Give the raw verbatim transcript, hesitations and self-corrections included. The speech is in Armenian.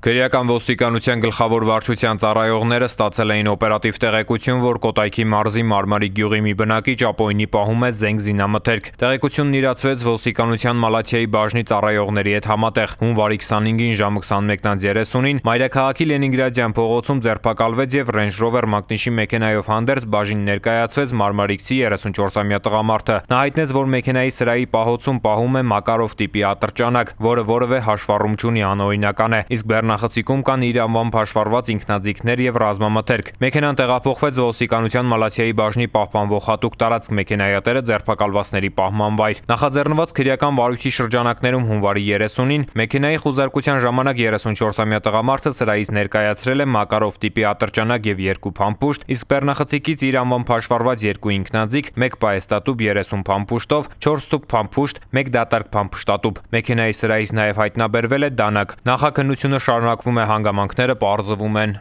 Քրեական ոստիկանության գլխավոր վարչության ծառայողները ստացել էին օպերատիվ տեղեկություն, որ Կոտայքի մարզի Մարմարիկ գյուղի մի բնակիչ ապօրինի պահում է զենք զինամթերք։ Տեղեկությունն իրացվեց ոստիկանության Մալաթիայի բաժնի ծառայողների հետ համատեղ։ Հունվարի քսանհինգին ժամը քսանմեկն երեսունին մայրաքաղաքի Լենինգրադյան փողոցում ձերբակալվեց եւ Range Rover մակնիշի մեքենայով հանդերձ բաժին ներկայացվեց մարմարիկցի երեսունչորսամյա տղամարդը։ Նա հայտնեց, որ մեքենայի սրահի պահոցում պահում է Մակարով տիպի ատրճանակ, որը որևէ հաշվառում չունի, անօրինական է, իսկ Նախացիկում կան իր անվամբ հաշվառված ինքնաձիգներ եւ ռազմամթերք։ Մեքենան տեղափոխվեց ոստիկանության Մալաթիայի բաժնի պահպանվող հատուկ տարածք, մեքենայատերը ձերբակալվածների պահման վայր։ Նախաձեռնված քրեական վարույթի շրջանակներում հունվարի երեսունին մեքենայի խուզարկության ժամանակ երեսունչորսամյա տղամարդը սրահից ներկայացրել է Մակարով տիպի ատրճանակ եւ երկու փամփուշտ, իսկ բեռնախցիկից իր անվամբ հաշվառված երկու ինքնաձիգ, մեկ պայեստատուփ երեսուն փամփուշտով, չորս տուփ փամփուշտ, մեկ դատարկ փամփշտատուփ։ Մեքենայի սրահից նաեւ հայտնաբերվել է դանակ։ Նախաքննությունը շարունակվում է, հանգամանքները պարզվում են։